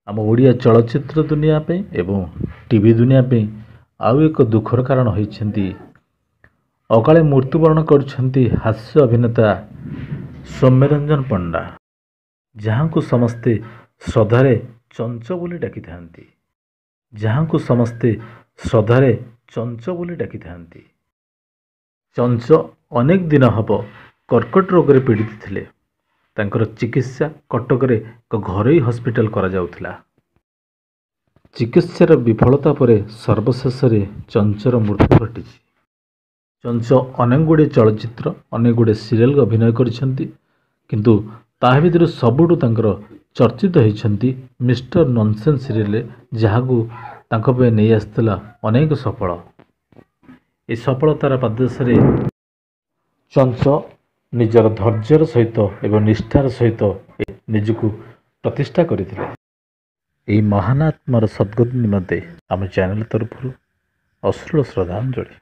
ଆମ ଓଡ଼ିଆ ଚଳଚ୍ଚିତ୍ର ଦୁନିଆ ପାଇଁ ଏବଂ ଟିଭି ଦୁନିଆ ପାଇଁ ଆଉ ଏକ ଦୁଃଖର କାରଣ ହୋଇଛନ୍ତି। ଅକାଳେ ମୃତ୍ୟୁବରଣ କରିଛନ୍ତି ହାସ୍ୟ ଅଭିନେତା ସୌମ୍ୟରଞ୍ଜନ ପଣ୍ଡା, ଯାହାଙ୍କୁ ସମସ୍ତେ ଶ୍ରଦ୍ଧାରେ ଚଞ୍ଚ ବୋଲି ଡାକିଥାନ୍ତି। ଯାହାଙ୍କୁ ସମସ୍ତେ ଶ୍ରଦ୍ଧାରେ ଚଞ୍ଚ ବୋଲି ଡାକିଥାନ୍ତି। ଚଞ୍ଚ ଅନେକ ଦିନ ହେବ କର୍କଟ ରୋଗରେ ପୀଡ଼ିତ ଥିଲେ। ତାଙ୍କର ଚିକିତ୍ସା କଟକରେ ଏକ ଘରୋଇ ହସ୍ପିଟାଲ କରାଯାଉଥିଲା। ଚିକିତ୍ସାର ବିଫଳତା ପରେ ସର୍ବଶେଷରେ ଚଞ୍ଚର ମୃତ୍ୟୁ ଘଟିଛି। ଚଞ୍ଚ ଅନେକ ଗୁଡ଼ିଏ ଚଳଚ୍ଚିତ୍ର, ଅନେକ ଗୁଡ଼ିଏ ସିରିଏଲ ଅଭିନୟ କରିଛନ୍ତି, କିନ୍ତୁ ତାହା ଭିତରୁ ସବୁଠୁ ତାଙ୍କର ଚର୍ଚ୍ଚିତ ହୋଇଛନ୍ତି ମିଷ୍ଟର ନନସେନ୍ସ ସିରିଏଲରେ, ଯାହାକୁ ତାଙ୍କ ପାଇଁ ନେଇ ଆସିଥିଲା ଅନେକ ସଫଳ। ଏ ସଫଳତାର ପାଦଦେଶରେ ଚଞ୍ଚ ନିଜର ଧୈର୍ଯ୍ୟର ସହିତ ଏବଂ ନିଷ୍ଠାର ସହିତ ନିଜକୁ ପ୍ରତିଷ୍ଠା କରିଥିଲେ। ଏହି ମହାନ ଆତ୍ମାର ସଦ୍ଗତି ନିମନ୍ତେ ଆମ ଚ୍ୟାନେଲ ତରଫରୁ ଅଶ୍ରୁଳ ଶ୍ରଦ୍ଧାଞ୍ଜଳି।